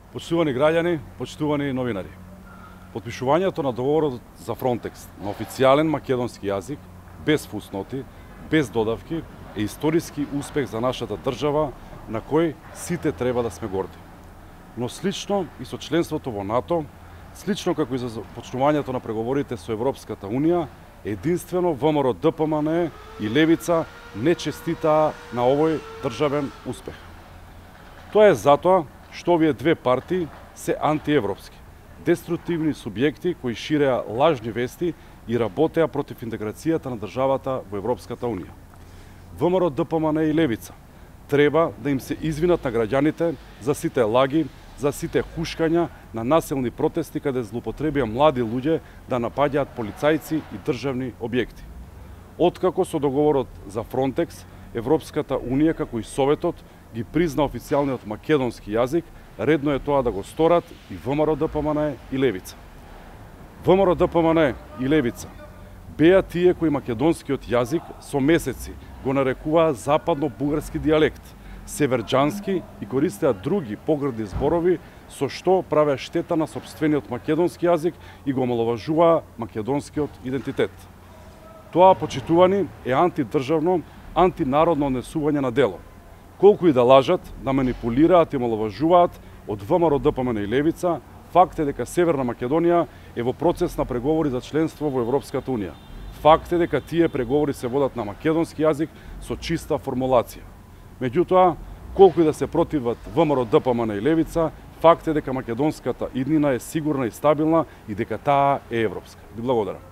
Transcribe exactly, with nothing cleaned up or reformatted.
Почитувани граѓани, почитувани новинари. Потпишувањето на договорот за Фронтекс на официјален македонски јазик, без фусноти, без додавки, е историски успех за нашата држава на кој сите треба да сме горди. Но слично и со членството во НАТО, слично како и за почнувањето на преговорите со Европската Унија, единствено ВМРО Д П М Н и Левица не честитаа на овој државен успех. Тоа е затоа што овие две партии се антиевропски, деструктивни субјекти кои ширеа лажни вести и работеа против интеграцијата на државата во Европската Унија. ВМРО Д П М Н и Левица треба да им се извинат на граѓаните за сите лаги, за сите хушкања на насилни протести каде злоупотребија млади луѓе да напаѓаат полицајци и државни објекти. Откако со договорот за Фронтекс, Европската Унија како и Советот ги призна официјалниот македонски јазик, редно е тоа да го сторат и ВМРО Д П М Н и Левица. ВМРО Д П М Н и Левица беа тие кои македонскиот јазик со месеци го нарекуваа западно-бугарски дијалект, северџански и користеа други погрдни зборови со што правеа штета на сопствениот македонски јазик и го омаловажуваа македонскиот идентитет. Тоа, почитувани, е антидржавно, антинародно однесување на дело. Колку и да лажат, да манипулираат и омаловажуваат, од ВМРО Д П М Н и Левица, факт е дека Северна Македонија е во процес на преговори за членство во Европската Унија. Факт е дека тие преговори се водат на македонски јазик со чиста формулација. Меѓутоа, колку и да се противат ВМРО Д П М Н и Левица, факт е дека македонската иднина е сигурна и стабилна и дека таа е европска. Ви благодарам.